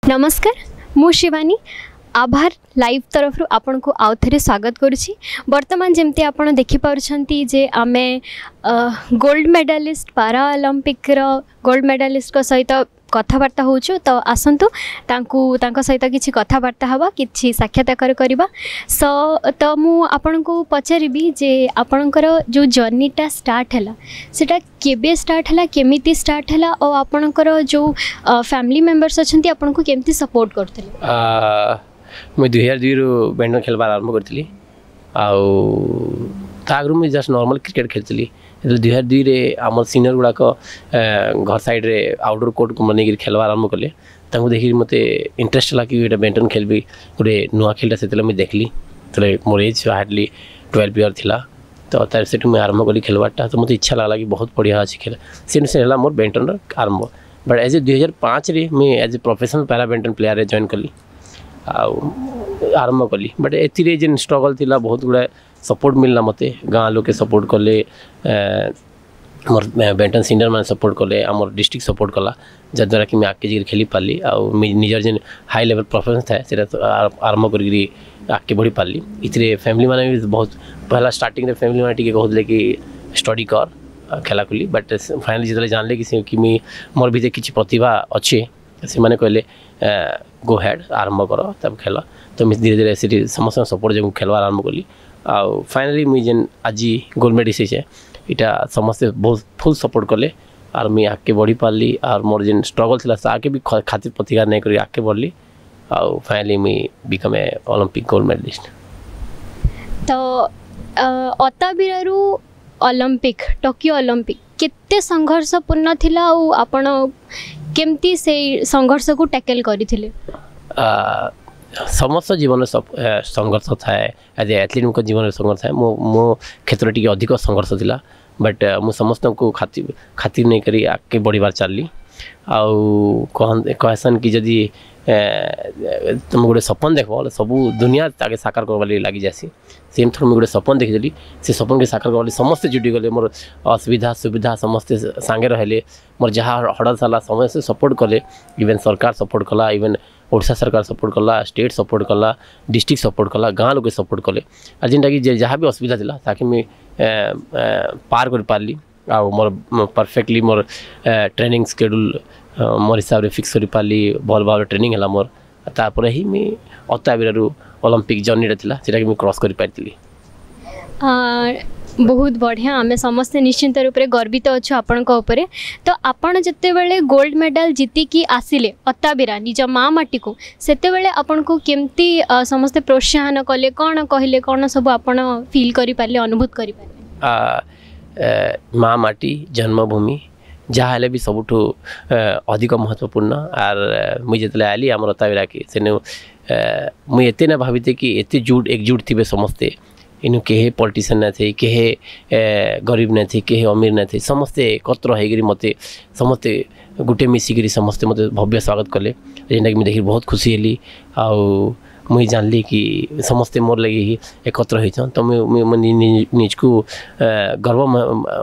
ନମସ୍କାର, ମୁଁ ଶିବାନୀ, ଆଭାର ଲାଇଭ୍ ତରଫରୁ ଆପଣଙ୍କୁ ଆଉ ଥରେ ସ୍ୱାଗତ କରୁଛି। ବର୍ତ୍ତମାନ ଯେମିତି ଆପଣ ଦେଖିପାରୁଛନ୍ତି ଯେ ଆମେ ଗୋଲ୍ଡ ମେଡ଼ାଲିଷ୍ଟ, ପାରା ଅଲମ୍ପିକ୍ର ଗୋଲ୍ଡ ମେଡ଼ାଲିଷ୍ଟଙ୍କ ସହିତ କଥାବାର୍ତ୍ତା ହେଉଛୁ। ତ ଆସନ୍ତୁ, ତାଙ୍କୁ ତାଙ୍କ ସହିତ କିଛି କଥାବାର୍ତ୍ତା ହେବା, କିଛି ସାକ୍ଷାତକାର କରିବା। ସୋ ତ ମୁଁ ଆପଣଙ୍କୁ ପଚାରିବି ଯେ ଆପଣଙ୍କର ଯେଉଁ ଜର୍ଣ୍ଣିଟା ଷ୍ଟାର୍ଟ ହେଲା, ସେଇଟା କେବେ ଷ୍ଟାର୍ଟ ହେଲା, କେମିତି ଷ୍ଟାର୍ଟ ହେଲା ଆଉ ଆପଣଙ୍କର ଯେଉଁ ଫ୍ୟାମିଲି ମେମ୍ବର୍ସ ଅଛନ୍ତି, ଆପଣଙ୍କୁ କେମିତି ସପୋର୍ଟ କରୁଥିଲେ? ମୁଇଁ 2002ରୁ ବ୍ୟାଡ଼ମିଣ୍ଟନ ଖେଳିବାର ଆରମ୍ଭ କରିଥିଲି ଆଉ ତା ଆଗରୁ ମୁଇଁ ଜଷ୍ଟ ନର୍ମାଲ୍ କ୍ରିକେଟ୍ ଖେଳିଥିଲି। ଯେତେବେଳେ 2002ରେ ଆମର ସିନିୟର ଗୁଡ଼ାକ ଘର ସାଇଡ଼୍ରେ ଆଉଟଡୋର୍ କୋର୍ଟ ବନେଇକିରି ଖେଳିବାର ଆରମ୍ଭ କଲେ, ତାଙ୍କୁ ଦେଖିକି ମୋତେ ଇଣ୍ଟରେଷ୍ଟ ହେଲା କି ଏଇଟା ବ୍ୟାଡ଼ମିଣ୍ଟନ ଖେଳିବି, ଗୋଟେ ନୂଆ ଖେଳଟା। ସେତେବେଳେ ମୁଇଁ ଦେଖିଲି, ସେତେବେଳେ ମୋର ଏଜ୍ ହାର୍ଡ଼ଲି 12 ଇୟର୍ ଥିଲା। ତ ତାର ସେଠୁ ମୁଇଁ ଆରମ୍ଭ କଲି ଖେଳିବାରଟା। ତ ମୋତେ ଇଚ୍ଛା ଲାଗିଲା କି ବହୁତ ବଢ଼ିଆ ଅଛି ଖେଳ। ସେନୁ ସେ ହେଲା ମୋର ବ୍ୟାଡ଼ମିଣ୍ଟନର ଆରମ୍ଭ। ବଟ୍ ଏଜ୍ ଏ 2005ରେ ମୁଇଁ as a professional para badminton ପ୍ଲେୟାରରେ ଜଏନ୍ କଲି ଆଉ ଆରମ୍ଭ କଲି। ବଟ୍ ଏଥିରେ ଯେନ୍ ଷ୍ଟ୍ରଗଲ୍ ଥିଲା, ବହୁତ ଗୁଡ଼ାଏ ସପୋର୍ଟ ମିଳିଲା ମୋତେ। ଗାଁ ଲୋକେ ସପୋର୍ଟ କଲେ, ମୋର ବ୍ୟାଡ଼ମିଣ୍ଟନ ସିନିୟର ମାନେ ସପୋର୍ଟ କଲେ, ଆମର ଡିଷ୍ଟ୍ରିକ୍ଟ ସପୋର୍ଟ କଲା, ଯାହାଦ୍ୱାରା କି ମୁଇଁ ଆଗକେ ଯାଇକିରି ଖେଳି ପାରିଲି ଆଉ ମୁଇଁ ନିଜର ଯେନ୍ ହାଇ ଲେଭେଲ୍ ପରଫର୍ମାନ୍ସ ଥାଏ, ସେଇଟା ଆରମ୍ଭ କରିକିରି ଆଗକେ ବଢ଼ି ପାରିଲି। ଏଥିରେ ଫ୍ୟାମିଲି ମାନେ ବି ବହୁତ, ପହଲା ଷ୍ଟାର୍ଟିଂରେ ଫ୍ୟାମିଲି ମାନେ ଟିକେ କହୁଥିଲେ କି ଷ୍ଟଡି କର, ଖେଲାଖୁଲି। ବଟ୍ ଫାଇନାଲି ଯେତେବେଳେ ଜାଣିଲେ କି ସେ କି ମୁଇଁ ମୋର ଭିତରେ କିଛି ପ୍ରତିଭା ଅଛି, ସେମାନେ କହିଲେ ଗୋ ହେଡ଼୍, ଆରମ୍ଭ କର, ତାପରେ ଖେଲ। ତ ମୁଇଁ ଧୀରେ ଧୀରେ ସେଠି ସମସ୍ତଙ୍କ ସପୋର୍ଟ ଯୋଗୁଁ ଖେଲବାର ଆରମ୍ଭ କଲି ଆଉ ଫାଇନାଲି ମୁଇଁ ଯେନ୍ ଆଜି ଗୋଲ୍ଡ ମେଡ଼ାଲିଷ୍ଟ ହେଇଛେ, ଇଟା ସମସ୍ତେ ବହୁତ ଫୁଲ୍ ସପୋର୍ଟ କଲେ ଆର୍ ମୁଇଁ ଆଗକେ ବଢ଼ି ପାରିଲି। ଆର୍ ମୋର ଯେନ୍ ଷ୍ଟ୍ରଗଲ୍ ଥିଲା, ତାକେ ବି ଖାତିର ପ୍ରତିକାର ନାଇଁ କରି ଆଗକେ ବଢ଼ଲି ଆଉ ଫାଇନାଲି ମୁଇଁ become a Olympic gold medalist. ତ ଅତାବିରାରୁ ଅଲମ୍ପିକ୍, ଟୋକିଓ ଅଲମ୍ପିକ୍ କେତେ ସଂଘର୍ଷପୂର୍ଣ୍ଣ ଥିଲା ଆଉ ଆପଣ କେମିତି ସେଇ ସଂଘର୍ଷକୁ ଟ୍ୟାକେଲ୍ କରିଥିଲେ? ସମସ୍ତ ଜୀବନରେ ସଂଘର୍ଷ ଥାଏ। ଆଜ୍ ଏ ଆଥଲେଟ୍ଙ୍କ ଜୀବନରେ ସଂଘର୍ଷ ଥାଏ। ମୋ ମୋ କ୍ଷେତ୍ରରେ ଟିକେ ଅଧିକ ସଂଘର୍ଷ ଥିଲା, ବଟ୍ ମୁଁ ସମସ୍ତଙ୍କୁ ଖାତିର ନେଇକରି ଆଗକେ ବଢ଼ିବାର ଚାଲିଲି। ଆଉ କହେସନ୍ କି ଯଦି ତୁମେ ଗୋଟେ ସପନ ଦେଖବ ବୋଲେ ସବୁ ଦୁନିଆ ତାକେ ସାକାର କରବାର୍ ଲାଗି ଲାଗିଯାଏସି। ସେମ୍ ଥର ମୁଇଁ ଗୋଟେ ସପନ ଦେଖିଦେଲି, ସେ ସପନକେ ସାକାର କରବାର୍ ଲାଗି ସମସ୍ତେ ଜୁଟିଗଲେ। ମୋର ଅସୁବିଧା ସୁବିଧା ସମସ୍ତେ ସାଙ୍ଗେ ରହିଲେ। ମୋର ଯାହା ହଡ଼ଲ ହେଲା, ସମସ୍ତେ ସପୋର୍ଟ କଲେ। ଇଭେନ୍ ସରକାର ସପୋର୍ଟ କଲା, ଇଭେନ୍ ଓଡ଼ିଶା ସରକାର ସପୋର୍ଟ କଲା, ଷ୍ଟେଟ୍ ସପୋର୍ଟ କଲା, ଡିଷ୍ଟ୍ରିକ୍ଟ ସପୋର୍ଟ କଲା, ଗାଁ ଲୋକେ ସପୋର୍ଟ କଲେ। ଆଉ ଯେନ୍ଟାକି ଯେ ଯାହା ବି ଅସୁବିଧା ଥିଲା, ତାକେ ମୁଇଁ ପାର କରିପାରିଲି ଆଉ ମୋର ପରଫେକ୍ଟଲି ମୋର ଟ୍ରେନିଂ ସ୍କେଡ୍ୟୁଲ୍ ମୋର ହିସାବରେ ଫିକ୍ସ କରିପାରିଲି। ଭଲ ଭାବରେ ଟ୍ରେନିଂ ହେଲା ମୋର। ତାପରେ ହିଁ ମୁଇଁ ଅତାବିରାରୁ ଅଲମ୍ପିକ୍ ଜର୍ଣ୍ଣିଟା ଥିଲା, ସେଟାକି ମୁଇଁ କ୍ରସ୍ କରିପାରିଥିଲି। ବହୁତ ବଢ଼ିଆ। ଆମେ ସମସ୍ତେ ନିଶ୍ଚିନ୍ତ ରୂପରେ ଗର୍ବିତ ଅଛୁ ଆପଣଙ୍କ ଉପରେ। ତ ଆପଣ ଯେତେବେଳେ ଗୋଲ୍ଡ ମେଡ଼ାଲ ଜିତିକି ଆସିଲେ ଅତାବିରା ନିଜ ମା ମାଟିକୁ, ସେତେବେଳେ ଆପଣଙ୍କୁ କେମିତି ସମସ୍ତେ ପ୍ରୋତ୍ସାହନ କଲେ, କ'ଣ କହିଲେ, କ'ଣ ସବୁ ଆପଣ ଫିଲ୍ କରିପାରିଲେ, ଅନୁଭୂତ କରିପାରିଲେ? ମା ମାଟି, ଜନ୍ମଭୂମି ଯାହା ହେଲେ ବି ସବୁଠୁ ଅଧିକ ମହତ୍ତ୍ୱପୂର୍ଣ୍ଣ। ଆର୍ ମୁଇଁ ଯେତେବେଳେ ଆଇଲି ଆମର ଅତାବିରାକେ, ସେନୁ ମୁଇଁ ଏତେ ନା ଭାବିତେ କି ଏତେ ଜୁଟ ଏକଜୁଟ ଥିବେ ସମସ୍ତେ। ଇନୁ କେହି ପଲିଟିସିଆନ୍ ନାଇଁ, କେହି ଗରିବ ନାଇଁ, କେହି ଅମୀର ନାଇଁ, ସମସ୍ତେ ଏକତ୍ର ହେଇକରି ମୋତେ ସମସ୍ତେ ଗୋଟେ ମିଶିକିରି ସମସ୍ତେ ମୋତେ ଭବ୍ୟ ସ୍ୱାଗତ କଲେ, ଯେନ୍ଟାକି ମୁଇଁ ଦେଖିକି ବହୁତ ଖୁସି ହେଲି। ଆଉ ମୁଇଁ ଜାଣିଲି କି ସମସ୍ତେ ମୋର୍ ଲାଗି ଏକତ୍ର ହେଇଛନ୍। ତ ମୁଇଁ ନିଜକୁ ଗର୍ବ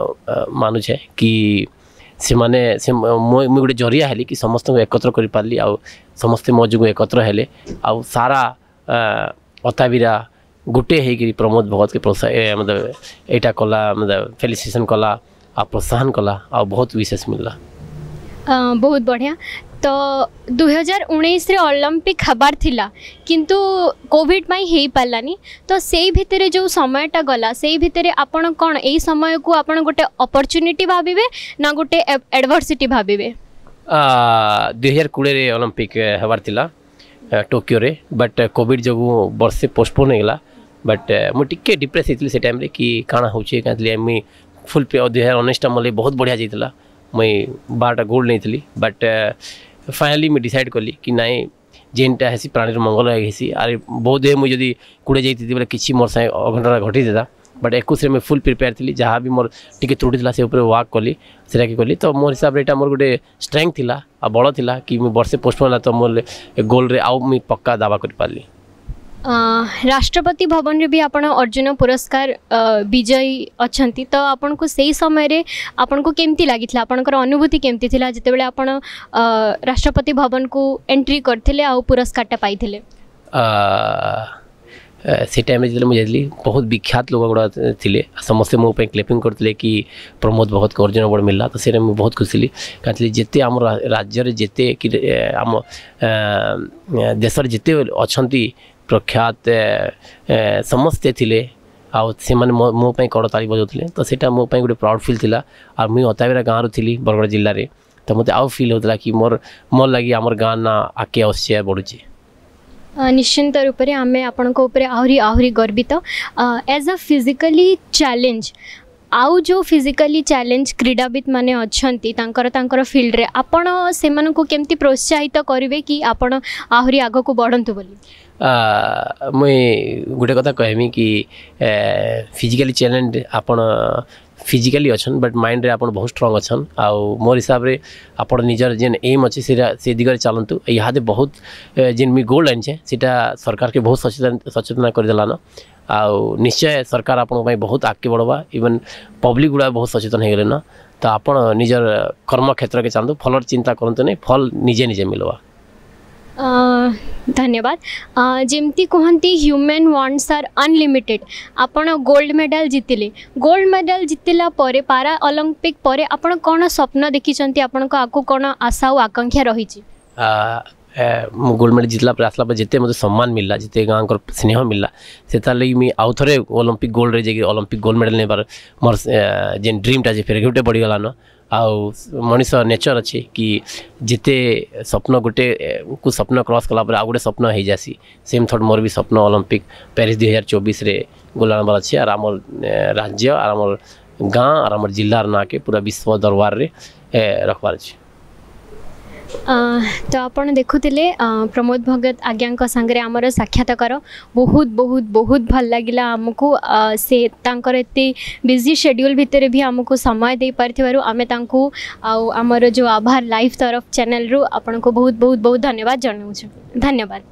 ମାନୁଛେ କି ସେମାନେ ସେ ମୁଇଁ ଗୋଟେ ଜରିଆ ହେଲି କି ସମସ୍ତଙ୍କୁ ଏକତ୍ର କରିପାରିଲି ଆଉ ସମସ୍ତେ ମୋ ଯୋଗୁଁ ଏକତ୍ର ହେଲେ ଆଉ ସାରା ଅତାବିରା ଗୋଟେ ହେଇକିରି ପ୍ରମୋଦ ଭଗତକେ ମତଲବ ଏଇଟା କଲା, ମତଲବ ଫେଲିସିଟେସନ୍ କଲା ଆଉ ପ୍ରୋତ୍ସାହନ କଲା ଆଉ ବହୁତ ବିଶେଷ ମିଳିଲା। ବହୁତ ବଢ଼ିଆ। ତ 2019ରେ ଅଲମ୍ପିକ୍ ହେବାର ଥିଲା, କିନ୍ତୁ କୋଭିଡ଼ ପାଇଁ ହେଇପାରିଲାନି। ତ ସେଇ ଭିତରେ ଯେଉଁ ସମୟଟା ଗଲା, ସେଇ ଭିତରେ ଆପଣ କ'ଣ ଏଇ ସମୟକୁ ଆପଣ ଗୋଟେ ଅପରଚ୍ୟୁନିଟି ଭାବିବେ ନା ଗୋଟେ ଆଡ଼ଭର୍ସିଟି ଭାବିବେ? 2020ରେ ଅଲମ୍ପିକ୍ ହେବାର ଥିଲା ଟୋକିଓରେ, ବଟ୍ କୋଭିଡ଼ ଯୋଗୁଁ ବର୍ଷେ ପୋଷ୍ଟପୋନ୍ ହେଇଗଲା। ବଟ୍ ମୁଁ ଟିକେ ଡିପ୍ରେସ୍ ହେଇଥିଲି ସେ ଟାଇମ୍ରେ କି କାଣା ହେଉଛି କାଁ। ମୁଇଁ ଫୁଲ୍ 2019ଟା ମୋର ବହୁତ ବଢ଼ିଆ ଯାଇଥିଲା, ମୁଇଁ 12ଟା ଗୋଲ୍ଡ ନେଇଥିଲି। ବଟ୍ ଫାଇନାଲି ମୁଇଁ ଡିସାଇଡ଼୍ କଲି କି ନାଇଁ, ଯେନ୍ଟା ହେସି ପ୍ରାଣୀର ମଙ୍ଗଳ ହେସି। ଆର୍ ବହୁତ ମୁଇଁ ଯଦି 20 ଯାଇଥିଲି ବୋଲେ କିଛି ମୋର୍ ସାଙ୍ଗେ ଅଘଟଣ ଘଟିଥିଲା। ବଟ୍ 21ରେ ମୁଇଁ ଫୁଲ୍ ପ୍ରିପେୟାର ଥିଲି। ଯାହା ବି ମୋର ଟିକେ ତ୍ରୁଟି ଥିଲା, ସେ ଉପରେ ୱାର୍କ କଲି, ସେଟାକେ କଲି। ତ ମୋର ହିସାବରେ ଏଇଟା ମୋର ଗୋଟେ ଷ୍ଟ୍ରେଙ୍ଗଥ ଥିଲା ଆଉ ବଳ ଥିଲା କି ମୁଇଁ ବର୍ଷେ ପୋଷ୍ଟପୋନ୍ ହେଲା, ତ ମୋର ଗୋଲ୍ରେ ଆଉ ମୁଇଁ ପକ୍କା ଦାବା କରିପାରିଲି। ରାଷ୍ଟ୍ରପତି ଭବନରେ ବି ଆପଣ ଅର୍ଜୁନ ପୁରସ୍କାର ବିଜୟୀ ଅଛନ୍ତି। ତ ଆପଣଙ୍କୁ ସେଇ ସମୟରେ ଆପଣଙ୍କୁ କେମିତି ଲାଗିଥିଲା? ଆପଣଙ୍କର ଅନୁଭୂତି କେମିତି ଥିଲା ଯେତେବେଳେ ଆପଣ ରାଷ୍ଟ୍ରପତି ଭବନକୁ ଏଣ୍ଟ୍ରି କରିଥିଲେ ଆଉ ପୁରସ୍କାରଟା ପାଇଥିଲେ? ସେ ଟାଇମ୍ରେ ଯେତେବେଳେ ମୁଁ ଯାଇଥିଲି, ବହୁତ ବିଖ୍ୟାତ ଲୋକ ଗୁଡ଼ା ଥିଲେ। ସମସ୍ତେ ମୋ ପାଇଁ କ୍ଲେପିଂ କରିଥିଲେ କି ପ୍ରମୋଦ ଭଗତକୁ ଅର୍ଜୁନ ଆୱାର୍ଡ଼ ମିଳିଲା। ତ ସେଇଟା ମୁଁ ବହୁତ ଖୁସି ଥିଲି, କାହିଁକି ଯେତେ ଆମ ରାଜ୍ୟରେ ଯେତେ କି ଆମ ଦେଶରେ ଯେତେ ଅଛନ୍ତି ପ୍ରଖ୍ୟାତ, ସମସ୍ତେ ଥିଲେ ଆଉ ସେମାନେ ମୋ ପାଇଁ କରତାଳି ବଜାଉଥିଲେ। ତ ସେଇଟା ମୋ ପାଇଁ ଗୋଟେ ପ୍ରାଉଡ଼ ଫିଲ୍ ଥିଲା। ଆଉ ମୁଇଁ ଅତାବିରା ଗାଁରୁ ଥିଲି, ବରଗଡ଼ ଜିଲ୍ଲାରେ, ତ ମୋତେ ଆଉ ଫିଲ୍ ହେଉଥିଲା କି ମୋର ଲାଗି ଆମର ଗାଁ ନାଁ ଆଗକେ ଆସୁଛି, ବଢ଼ୁଛି। ନିଶ୍ଚିନ୍ତ ରୂପରେ ଆମେ ଆପଣଙ୍କ ଉପରେ ଆହୁରି ଆହୁରି ଗର୍ବିତ। ଏଜ୍ ଅ ଫିଜିକାଲି ଚ୍ୟାଲେଞ୍ଜ, ଆଉ ଯେଉଁ ଫିଜିକାଲି ଚ୍ୟାଲେଞ୍ଜ କ୍ରୀଡ଼ାବିତ ମାନେ ଅଛନ୍ତି ତାଙ୍କର ତାଙ୍କର ଫିଲ୍ଡରେ, ଆପଣ ସେମାନଙ୍କୁ କେମିତି ପ୍ରୋତ୍ସାହିତ କରିବେ କି ଆପଣ ଆହୁରି ଆଗକୁ ବଢ଼ନ୍ତୁ ବୋଲି? ମୁଇଁ ଗୋଟେ କଥା କହିମି କି ଫିଜିକାଲି ଚ୍ୟାଲେଞ୍ଜ ଆପଣ ଫିଜିକାଲି ଅଛନ୍, ବଟ୍ ମାଇଣ୍ଡରେ ଆପଣ ବହୁତ ଷ୍ଟ୍ରଙ୍ଗ ଅଛନ୍। ଆଉ ମୋର୍ ହିସାବରେ ଆପଣ ନିଜର ଯେନ୍ ଏମ୍ ଅଛି, ସେଇଟା ସେ ଦିଗରେ ଚାଲନ୍ତୁ। ଇହାଦେ ବହୁତ ଯେନ୍ ମୁଇଁ ଗୋଲ୍ଡ ଆଣିଛେ, ସେଇଟା ସରକାରକେ ବହୁତ ସଚେତନ କରିଦେଲାନ। ଆଉ ନିଶ୍ଚୟ ସରକାର ଆପଣଙ୍କ ପାଇଁ ବହୁତ ଆଗକେ ବଢ଼ବା। ଇଭେନ୍ ପବ୍ଲିକ୍ ଗୁଡ଼ା ବହୁତ ସଚେତନ ହେଇଗଲେନ। ତ ଆପଣ ନିଜର କର୍ମକ୍ଷେତ୍ରକେ ଚାଲନ୍ତୁ, ଫଲର ଚିନ୍ତା କରନ୍ତୁ ନାଇଁ, ଫଲ ନିଜେ ନିଜେ ମିଲବା। ଧନ୍ୟବାଦ। ଯେମିତି କୁହନ୍ତି, ହ୍ୟୁମାନ୍ ୱାଣ୍ଟସ୍ ଆର୍ ଅନଲିମିଟେଡ଼। ଆପଣ ଗୋଲ୍ଡ ମେଡ଼ାଲ ଜିତିଲେ। ଗୋଲ୍ଡ ମେଡ଼ାଲ ଜିତିଲା ପରେ, ପାରା ଅଲମ୍ପିକ୍ ପରେ ଆପଣ କ'ଣ ସ୍ୱପ୍ନ ଦେଖିଛନ୍ତି? ଆପଣଙ୍କ ଆଗକୁ କ'ଣ ଆଶା ଆଉ ଆକାଂକ୍ଷା ରହିଛି? ମୁଁ ଗୋଲ୍ଡ ମେଡ଼ାଲ ଜିତିଲା ପରେ, ଆସିଲା ପରେ ଯେତେ ମୋତେ ସମ୍ମାନ ମିଳିଲା, ଯେତେ ଗାଁଙ୍କର ସ୍ନେହ ମିଳିଲା, ସେ ତାର୍ ଲାଗି ମୁଇଁ ଆଉ ଥରେ ଅଲମ୍ପିକ୍ ଗୋଲ୍ଡରେ ଯାଇକି ଅଲମ୍ପିକ୍ ଗୋଲ୍ଡ ମେଡ଼ାଲ ନେବାର ମୋର୍ ଯେନ୍ ଡ୍ରିମ୍ଟା ଯେ ଫେର୍ ଗୋଟେ ବଢ଼ିଗଲାନ। ଆଉ ମଣିଷ ନେଚର୍ ଅଛି କି ଯେତେ ସ୍ୱପ୍ନ ଗୋଟେ କୁ ସ୍ୱପ୍ନ କ୍ରସ୍ କଲା ପରେ ଆଉ ଗୋଟେ ସ୍ୱପ୍ନ ହେଇଯାସି। ସେମ୍ ଥଟ୍ ମୋର ବି ସ୍ୱପ୍ନ ଅଲମ୍ପିକ୍ ପ୍ୟାରିସ୍ 2024ରେ ଗୋଲ୍ଡ ଆଣବାର ଅଛି, ଆର୍ ଆମର୍ ରାଜ୍ୟ ଆର୍ ଆମର୍ ଗାଁ ଆର୍ ଆମର୍ ଜିଲ୍ଲାର ନାଁକେ ପୁରା ବିଶ୍ୱ ଦରବାରରେ ରଖବାର ଅଛି। ତ ଆପଣ ଦେଖୁଥିଲେ ପ୍ରମୋଦ ଭଗତ ଆଜ୍ଞାଙ୍କ ସାଙ୍ଗରେ ଆମର ସାକ୍ଷାତକାର। ବହୁତ ବହୁତ ବହୁତ ଭଲ ଲାଗିଲା ଆମକୁ। ସେ ତାଙ୍କର ଏତେ ବିଜି ସେଡ୍ୟୁଲ୍ ଭିତରେ ବି ଆମକୁ ସମୟ ଦେଇପାରିଥିବାରୁ ଆମେ ତାଙ୍କୁ ଆଉ ଆମର ଯେଉଁ ଆଭାର ଲାଇଭ୍ ତରଫ ଚ୍ୟାନେଲରୁ ଆପଣଙ୍କୁ ବହୁତ ବହୁତ ବହୁତ ଧନ୍ୟବାଦ ଜଣାଉଛୁ। ଧନ୍ୟବାଦ।